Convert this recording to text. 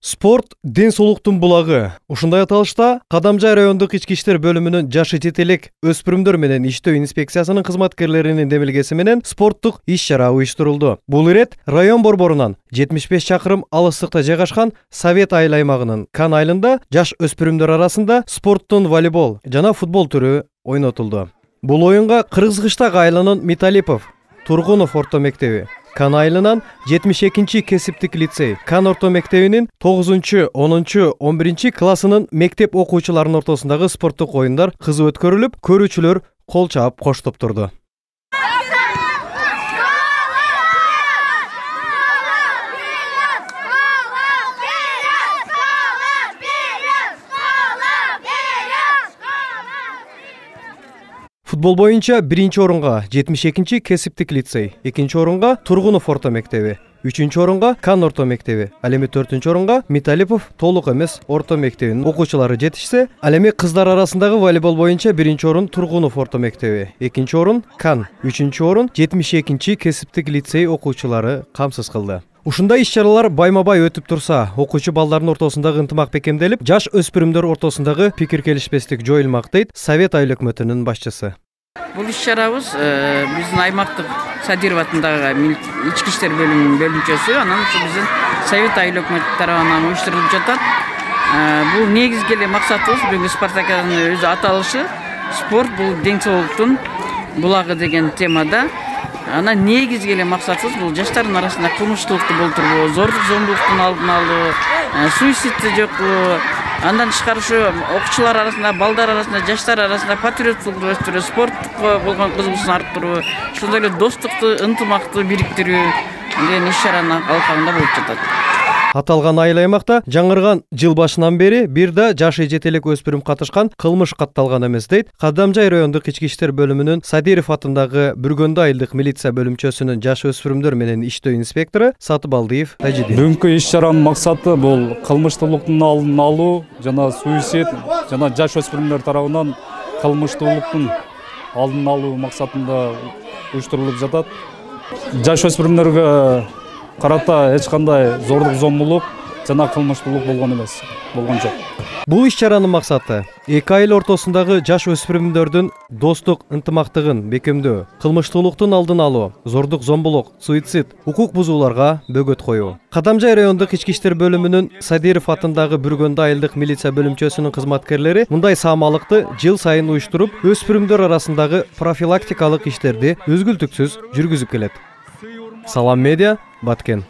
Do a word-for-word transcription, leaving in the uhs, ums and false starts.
Спорт ден соолуктун булагы. Ушундай аталышта Кадамжай райондук ички иштер бөлүмүнүн жашы жетелек өспүрүмдөр менен иштөө инспекциясынын кызматкерлеринин демилгеси менен спорттук иш-чара уюштурулду. Бул ирет район борборунан жетимиш беш чакырым алыстыкта жайгашкан Совет айыл аймагынын Кан айылында жаш өспүрүмдөр арасында спорттун волейбол жана футбол түрү ойнотулду. Бул оюнга Кыргызкыштак айылынын Металипов, Тургунов орто мектеби, Кан айылынан жетимиш экинчи кесиптик лицей, Кан орто мектебинин тогузунчу, онунчу, он биринчи классынын мектеп окуучуларынын ортосундагы спорттук оюндар кызуу өткөрүлүп, көрүүчүлөр кол чаап коштоп турду. Футбол боюнча биринчи орунга жетимиш экинчи кесиптик лицей, экинчи орунга Тургунов орто мектеби, үчүнчү орунга Кан орто мектеби, ал эми төртүнчү орунга Металипов толук эмес орто мектебинин окуучулары жетишсе, ал эми кыздар арасындагы волейбол боюнча биринчи орун Тургунов орто мектеби, экинчи орун Кан, үчүнчү орун жетимиш экинчи кесиптик лицей окуучулары камсыз кылды. Ушундай иш-чаралар байма-бай өтүп турса, окуучу балдардын ортосундагы ынтымак бекемделип, жаш өспүрүмдөр ортосундагы пикир келишпестик жоюлмак дейт Совет айыл өкмөтүнүн башчысы. Бул иш-чарабыз биздин аймактык Садыров атындагы ички иштер бөлүмүнүн бөлүмчөсү, анан биздин Совет айыл өкмөтү тарабынан уюштурулуп жатат. Бул негизги эле максатыбыз бүгүнкү спартакиаданын өзү аталышы спорт бул ден соолуктун булагы деген темада. Анан негизги эле максатыбыз бул жаштардын арасында кылмыштуулукту болтурбоо, зордук зомбулуктун алдын алуу, суицидти жоккулоо, андан тышкары ушу окуучулар арасында, балдар арасында, жаштар арасында патриоттукту өстүрүү, спортко болгон кызыгуусун арттыруу, ошондой эле достукту, ынтымактуу бириктирүү деген иш-чаранын алкагында болуп жатат. Аталган айыл аймакта жаңырган жыл башынан бери бир да жашы жетелек өспүрүм катышкан кылмыш катталган эмес дейт Кадамжай райондук ички иштер бөлүмүнүн Садыров атындагы Бүргөндө айылдык милиция бөлүмчөсүнүн жаш өспүрүмдөр менен иштөө инспектору Сатыбалдиев Тажидин. Бүгүнкү иш-чаранын максаты бул кылмыштуулуктун алдын алуу жана суицид жана жаш өспүрүмдөр тарабынан кылмыштуулуктун алдын алуу максатында уюштурулуп жатат. Жаш өспүрүмдөргө карата эч кандай зордук зомбулук жана кылмыштуулук болгон эмес, болгон жок. Бул иш-чаранын максаты эки айыл ортосундагы жаш өспүрүмдөрдүн достук ынтымактыгын бекемдөө, кылмыштуулуктун алдын алуу, зордук зомбулук, суицид, укук бузууларга бөгөт коюу. Кадамжай райондук ички иштер бөлүмүнүн Садыров атындагы Бүргөндө айылдык милиция бөлүмчөсүнүн кызматкерлери мындай саамалыкты жыл сайын уюштуруп, өспүрүмдөр арасындагы профилактикалык иштерди үзгүлтүксүз жүргүзүп келет. Салам медиа, Баткен.